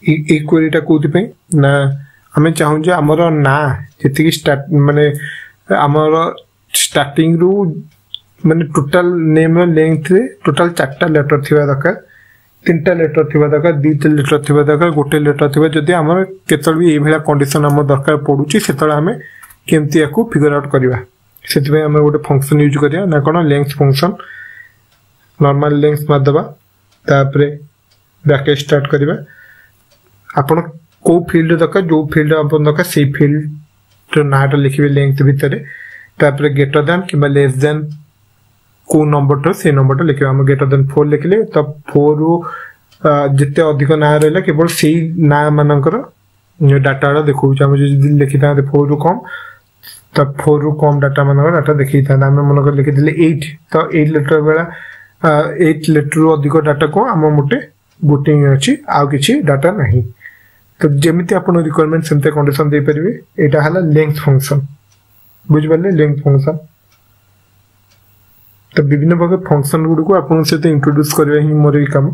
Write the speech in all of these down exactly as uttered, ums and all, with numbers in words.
ଏଇ କ୍ୱେରିଟା କୋଉଥିପାଇଁ ନା ଆମେ ଚାହୁଁଛେ ଆମର ନାଁ ଯେତିକି ଷ୍ଟାର୍ଟ ମାନେ ଆମର ଷ୍ଟାର୍ଟିଂରୁ ମାନେ ଟୋଟାଲ ନେମ୍ର ଲେନ୍ଥରେ ଟୋଟାଲ ଚାରିଟା ଲେଟର ଥିବା ଦରକାର ତିନିଟା ଲେଟର ଥିବା ଦରକାର ଦୁଇଟା ଲେଟର ଥିବା ଦରକାର ଗୋଟେ ଲେଟର ଥିବା ଯଦି ଆମର କେତେବେଳେ ବି ଏଇଭଳିଆ କଣ୍ଡିସନ ଆମର ଦରକାର ପଡୁଛି ସେତେବେଳେ ଆମେ କେମିତି ୟାକୁ ଫିଗର ଆଉଟ୍ କରିବା ସେଥିପାଇଁ ଆମେ ଗୋଟେ ଫଙ୍କସନ୍ ୟୁଜ୍ କରିବା ନା କ'ଣ ଲେନ୍ଥ ଫଙ୍କସନ୍ ନର୍ମାଲ ଲେନ୍ଥ ମାରିଦେବା ତାପରେ ବ୍ରାକେଟ୍ ଷ୍ଟାର୍ଟ କରିବା ଆପଣ କେଉଁ ଫିଲ୍ଡ ଦରକାର ଯେଉଁ ଫିଲ୍ଡ ଆପଣ ଦରକାର ସେଇ ଫିଲ୍ଡର ନାଁଟା ଲେଖିବେ ଲେନ୍ଥ ଭିତରେ ତାପରେ ଗ୍ରେଟର ଦ୍ୟାନ୍ କିମ୍ବା ଲେସ୍ ଦ୍ୟାନ୍ କେଉଁ ନମ୍ବରଟା ସେଇ ନମ୍ବରଟା ଲେଖିବେ ଆମେ ଗ୍ରେଟର ଦେନ୍ ଫୋର୍ ଲେଖିଲେ ତ ଫୋର୍ରୁ ଯେତେ ଅଧିକ ନାଁ ରହିଲା କେବଳ ସେଇ ନାଁ ମାନଙ୍କର ଡାଟାଟା ଦେଖାଉଛି ଆମେ ଯଦି ଲେଖିଥାନ୍ତେ ଫୋର୍ରୁ କମ୍ ତ ଫୋର୍ରୁ କମ୍ ଡାଟା ମାନଙ୍କର ଡାଟା ଦେଖେଇଥାନ୍ତେ ଆମେ ମନେକର ଲେଖିଥିଲେ ଏଇଟ୍ ତ ଏଇଟ୍ ଲେଟର ବେଳେ ଏଇଟ୍ ଲେଟରରୁ ଅଧିକ ଡାଟାକୁ ଆମ ମୋଟେ ଗୋଟେ ହିଁ ଅଛି ଆଉ କିଛି ଡାଟା ନାହିଁ ତ ଯେମିତି ଆପଣ ରିକ୍ୱାରମେଣ୍ଟ ସେମିତି କଣ୍ଡିସନ ଦେଇପାରିବେ ଏଇଟା ହେଲା ଲେନ୍ଥ ଫଙ୍କସନ୍ ବୁଝିପାରିଲେ ଲେନ୍ଥ ଫଙ୍କସନ୍ ତ ବିଭିନ୍ନ ପ୍ରକାର ଫଙ୍କସନ୍ ଗୁଡ଼ିକୁ ଆପଣଙ୍କ ସହିତ ଇଣ୍ଟ୍ରୋଡ୍ୟୁସ୍ କରିବା ହିଁ ମୋର ଏଇ କାମ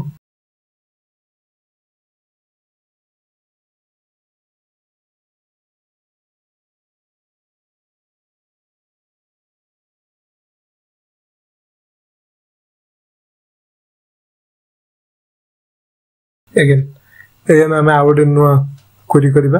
ଏଗେନ୍ ଏଗେନ୍ ଆମେ ଆଉ ଗୋଟେ ନୂଆ କ୍ୱେରି କରିବା